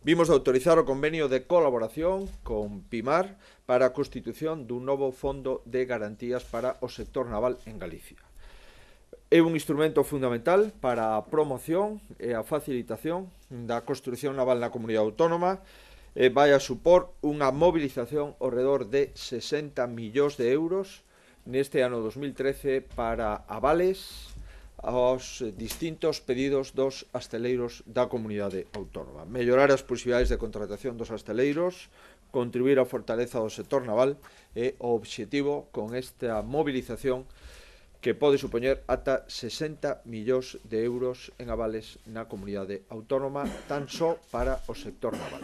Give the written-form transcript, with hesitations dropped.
Vimos de autorizar o convenio de colaboración con PIMAR para a constitución dun novo fondo de garantías para o sector naval en Galicia. É un instrumento fundamental para a promoción e a facilitación da construción naval na comunidade autónoma e vai a supor unha mobilización ao redor de 60 millóns de euros neste ano 2013 para avales aos distintos pedidos dos asteleiros da comunidade autónoma. Mellorar as posibilidades de contratación dos asteleiros, contribuir á fortaleza do sector naval e o obxectivo con esta movilización que pode supoñer ata 60 millóns de euros en avales na comunidade autónoma tan só para o sector naval.